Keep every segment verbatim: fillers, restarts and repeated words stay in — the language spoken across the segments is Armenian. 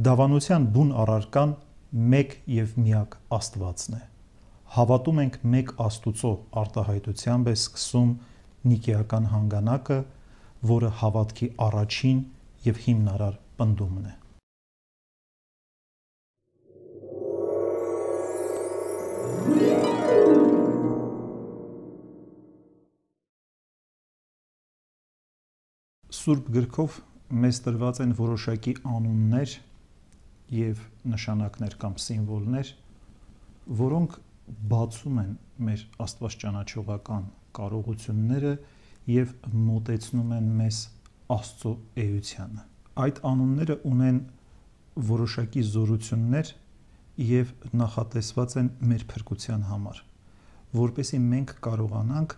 Դավանության բուն առարկան մեկ և միակ Աստվածն է։ Հավատում ենք մեկ Աստուծո արտահայտությամբ է սկսում Նիկեական հանգանակը, որը հավատքի առաջին և հիմնարար պնդումն է։ Սուրբ գրքով մեզ տրված են որոշակի անուններ և նշանակներ կամ սիմվոլներ, որոնք բացում են մեր աստվածճանաչողական կարողությունները և մոտեցնում են մեզ Աստծո էությանը։ Այդ անունները ունեն որոշակի զորություններ և նախատեսված են մեր փրկության համար, որպեսզի մենք կարողանանք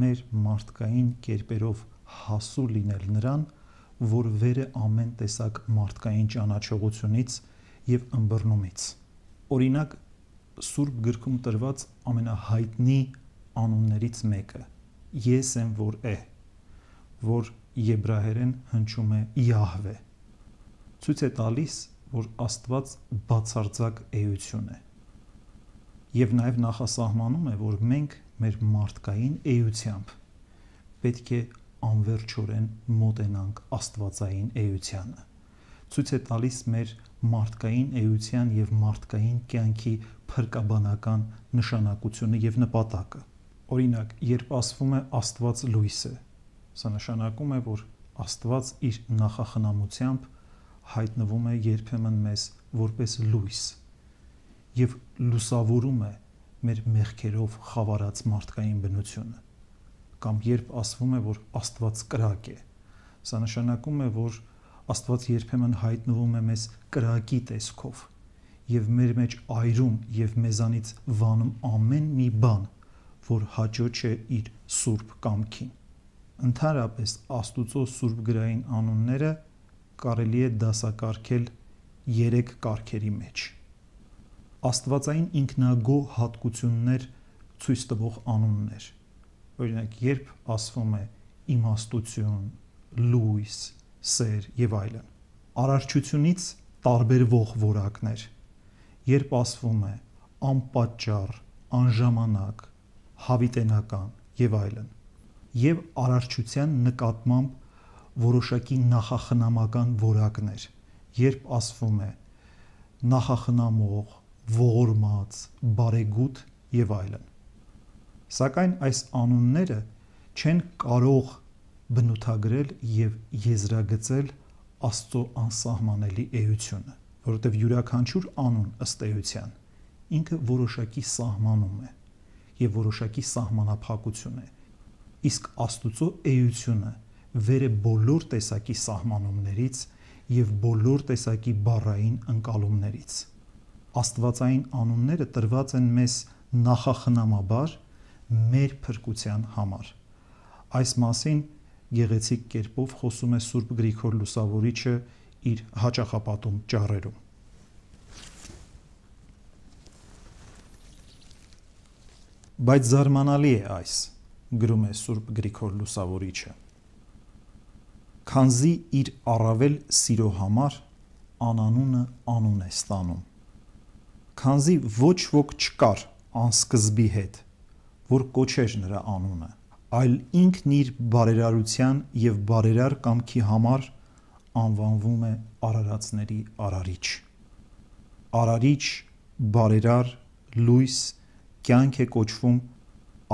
մեր մարդկային կերպերով հասու լինել նրան, որ վեր է ամեն տեսակ մարդկային ճանաչողությունից և ըմբռնումից։ Օրինակ, Սուրբ գրքում տրված ամենահայտնի անուններից մեկը Ես եմ, որ է, որ եբրայերեն հնչում է Յահվե, ցույց է տալիս, որ Աստված բացարձակ էություն է, և նաև նախասահմանում է, որ մենք մեր մարդկային էությամբ պետք է անվերջորեն մոտենանք աստվածային էությանը, ցույց է տալիս մեր մարդկային էության և մարդկային կյանքի փրկաբանական նշանակությունը և նպատակը։ Օրինակ, երբ ասվում է Աստված լույս է, սա նշանակում է, որ Աստված իր նախախնամությամբ հայտնվում է երբեմն մեզ որպես լույս և լուսավորում է մեր մեղքերով խավարած մարդկային բնությունը։ Կամ երբ ասվում է, որ Աստված կրակ է, սա նշանակում է, որ Աստված երբեմն հայտնվում է մեզ կրակի տեսքով և մեր մեջ այրում և մեզանից վանում ամեն մի բան, որ հաճո չէ իր սուրբ կամքին։ Ընդհանրապես, Աստուծո սուրբգրային անունները կարելի է դասակարգել երեք կարգերի մեջ։ Աստվածային ինքնագոհ հատկություններ ցույց տվող անուններ, օրինակ, երբ ասվում է իմաստություն, լույս, սեր և այլն։ Արարչությունից տարբերվող որակներ, երբ ասվում է անպատճառ, անժամանակ, հավիտենական և այլն, և արարչության նկատմամբ որոշակի նախախնամական որակներ, երբ ասվում է նախախնամող, ողորմած, բարեգութ և այլն։ Սակայն այս անունները չեն կարող բնութագրել և եզրագծել Աստծո անսահմանելի էությունը, որովհետև յուրաքանչյուր անուն ըստ էության ինքը որոշակի սահմանում է և որոշակի սահմանափակություն է, իսկ Աստուծո էությունը վեր է բոլոր տեսակի սահմանումներից և բոլոր տեսակի բառային ընկալումներից։ Աստվածային անունները տրված են մեզ նախախնամաբար մեր փրկության համար։ Այս մասին գեղեցիկ կերպով խոսում է Սուրբ Գրիգոր Լուսավորիչը իր հաճախապատում ճառերում։ Բայց զարմանալի է այս, գրում է Սուրբ Գրիգոր Լուսավորիչը, քանզի իր առավել սիրո համար անանունը անուն է ստանում, քանզի ոչ ոք չկար անսկզբի հետ, որ կոչեր նրա անունը, այլ ինքն իր բարերարության և բարերար կամքի համար անվանվում է արարածների Արարիչ։ Արարիչ, բարերար, լույս, կյանք է կոչվում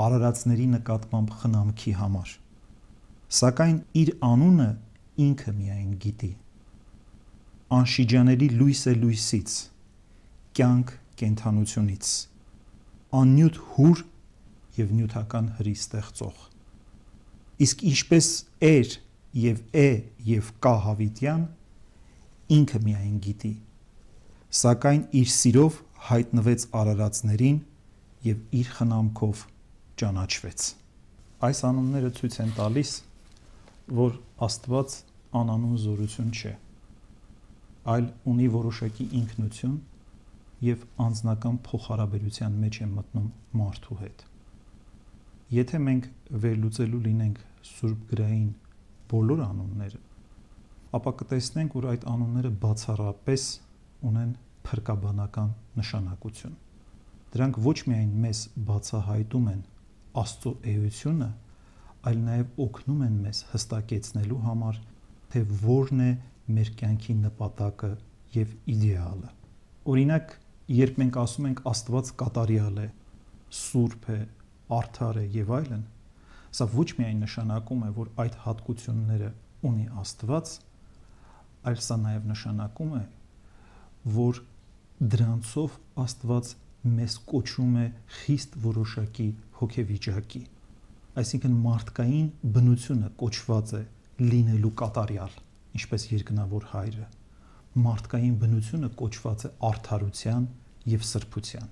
արարածների նկատմամբ խնամքի համար, սակայն իր անունը ինքը միայն գիտի։ Անշիջանելի լույս է լույսից, կյանք կենդանությունից, աննյութ հուր և նյութական հրի ստեղծող։ Իսկ ինչպես էր և է և կա հավիտյան, ինքը միայն գիտի, սակայն իր սիրով հայտնվեց արարածներին և իր խնամքով ճանաչվեց։ Այս անունները ցույց են տալիս, որ Աստված անանուն զորություն չէ, այլ ունի որոշակի ինքնություն և անձնական փոխհարաբերության մեջ է մտնում մարդու հետ։ Եթե մենք վերլուծելու լինենք Սուրբ գրային բոլոր անունները, ապա կտեսնենք, որ այդ անունները բացառապես ունեն փրկաբանական նշանակություն։ Դրանք ոչ միայն մեզ բացահայտում են Աստծո էությունը, այլ նաև օգնում են մեզ հստակեցնելու համար, թե որն է մեր կյանքի նպատակը եւ իդեալը։ Օրինակ, երբ մենք ասում ենք Աստված կատարյալ է, սուրբ է, արդար է եւ այլն, սա ոչ միայն նշանակում է, որ այդ հատկությունները ունի Աստված, այլ սա նաև նշանակում է, որ դրանցով Աստված մեզ կոչում է խիստ որոշակի հոգեվիճակի, այսինքն մարդկային բնությունը կոչված է լինելու կատարյալ, ինչպես երկնավոր Հայրը, մարդկային բնությունը կոչված է արդարության եւ սրբության,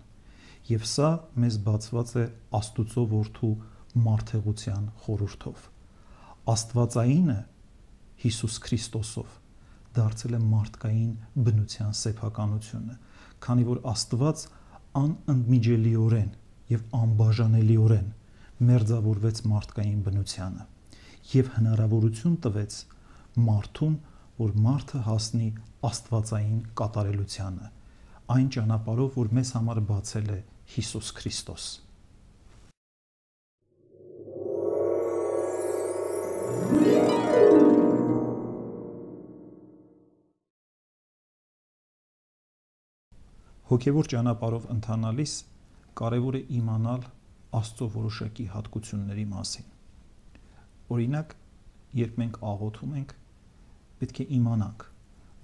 եւ սա մեզ բացված է Աստուծո որդու մարդեղության խորհրդով։ Աստվածայինը Հիսուս Քրիստոսով դարձել է մարդկային բնության սեփականությունը, քանի որ Աստված անընդմիջելիորեն եւ անբաժանելիորեն մերձավորվեց մարդկային բնությանը եւ հնարավորություն տվեց մարդուն, որ մարդը հասնի աստվածային կատարելությանը, այն ճանապարհով, որ մեզ համար բացել է Հիսուս Քրիստոս։ Հոգևոր ճանապարհով ընթանալիս կարևոր է իմանալ Աստծո որոշակի հատկությունների մասին։ Օրինակ, երբ մենք աղոթում ենք, պետք է իմանանք,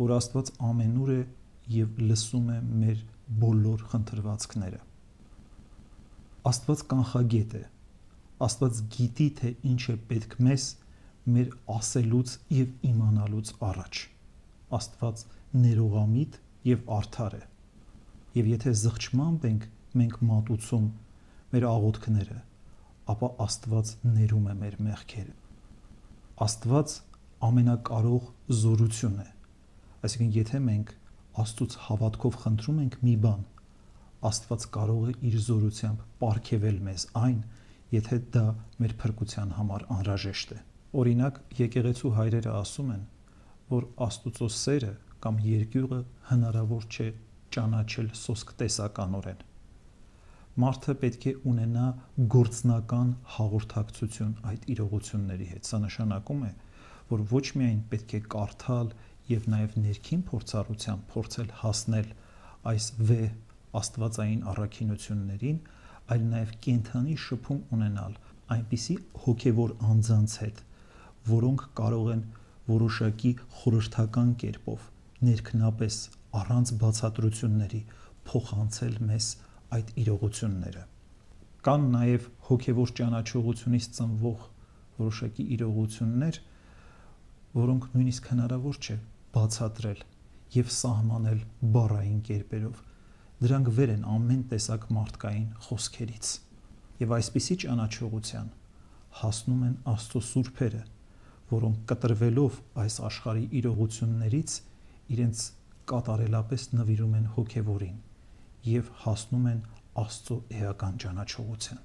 որ Աստված ամենուր է եւ լսում է մեր բոլոր խնդրվածքները։ Աստված կանխագետ է։ Աստված գիտի, թե ինչ է պետք մեզ մեր ասելուց եւ իմանալուց առաջ։ Աստված ներողամիտ եւ արդար է։ Եվ եթե զղջմամբ ենք մենք մատուցում մեր աղոթքները, ապա Աստված ներում է մեր մեղքերը։ Աստված ամենակարող զորություն է։ Այսինքն, եթե մենք Աստծուց հավատքով խնդրում ենք մի բան, Աստված կարող է իր զորությամբ պարգևել մեզ այն, եթե դա մեր փրկության համար անհրաժեշտ է։ Օրինակ, եկեղեցու հայրերը ասում են, որ Աստծո սերը կամ երկյուղը հնարավոր չէ ճանաչել սոսկ տեսականորեն։ Մարդը պետք է ունենա գործնական հաղորդակցություն այդ իրողությունների հետ։ Սա նշանակում է, որ ոչ միայն պետք է կարդալ եւ նաեւ ներքին փորձառությամբ փորձել հասնել այս վեհ աստվածային առաքինություններին, այլ նաեւ կենթանի շփում ունենալ այնպիսի հոգեվոր անձանց հետ, որոնք կարող են որոշակի խորհրդական կերպով ներքնապես առանց բացատրությունների փոխանցել մեզ այդ իրողությունները։ Կան նաև հոգևոր ճանաչողությունից ծնվող որոշակի իրողություններ, որոնք նույնիսկ հնարավոր չէ բացատրել եւ սահմանել բառային կերպերով։ Դրանք վեր են ամեն տեսակ մարդկային խոսքերից։ Եվ այսպիսի ճանաչողության հասնում են Աստծո սուրբերը, որոնք կտրվելով այս աշխարհի իրողություններից իրենց կատարելապես նվիրում են հոգևորին եւ հասնում են Աստծո էական ճանաչողության։